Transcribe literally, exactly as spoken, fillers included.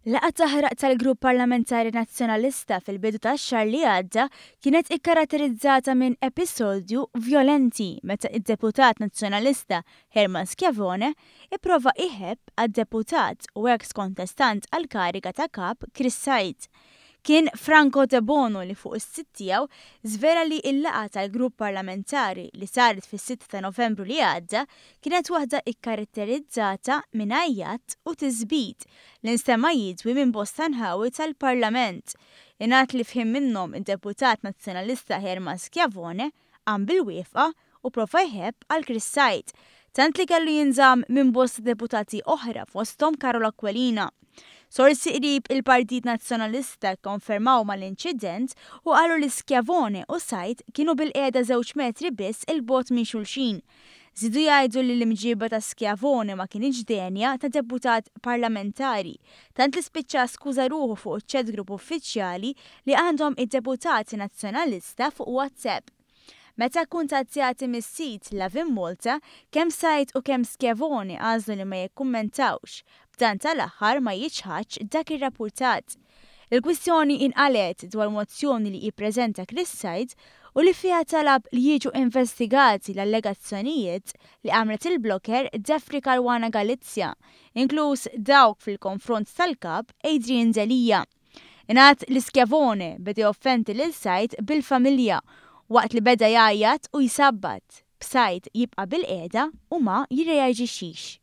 Laqgħa taħraq tal-Grupp Parlamentari Nazzjonalista fil-bidu tax-xahar li għadda kienet ikkaratterizzata minn episodju vjolenti meta id-deputat Nazzjonalista Herman Schiavone ipprova iħebb għad-deputat u ex kontestant għal kariga ta' kap Chris Said. Kien Franco Debono li fuq is-sit tiegħu żvela li l-laqgħa tal-grupp parlamentari li saret fis-sitta ta' Novembru li għadda kienet waħda ikkaratterizzata minn għajjat u tisbit li nstema' jidwi minn bosta nħawi tal-Parlament. Ingħad li f'ħin minnhom id-deputat Nazzjonalista Herman Schiavone qam bil-wieqfa u prova jħebb għal Chris Said, tant li kellu jinżamm minn bosta deputati oħra, fosthom Karol Aquilina. Sorsi qrib il-Partit Nazzjonalista konfermaw mal-inċident u qalu li Schiavone u Said kienu bilqiegħda żewġ metri biss 'il bogħod minn xulxin. Żidu jgħidu li l-imġiba ta' Schiavone ma kinitx denja ta' deputat parlamentari, tant li spiċċa skuża ruħu fuq chat group uffiċjali li għandhom id-deputati Nazzjonalista fuq WhatsApp. Meta kuntattjati mis-sit Lovin Malta, kemm Said u kemm Schiavone għażlu li ma jikkummentawx, b'dan tal-aħħar ma jiċħadx dak ir-rapportat. Il-kwistjoni inqalet dwar mozzjoni li jippreżenta Chris Said u li fiha talab li jiġu investigati l-allegazzjonijiet li għamlet il-blogger Daphne Caruana Galizia, inkluż dawk fil-konfront tal-kap Adrian Delia. Ingħad li Schiavone beda joffendi lil Said bil-familja waqt li beda jgħajjat u jsabbat, b'Said jibqa' bilqiegħda u ma jirreaġixxix.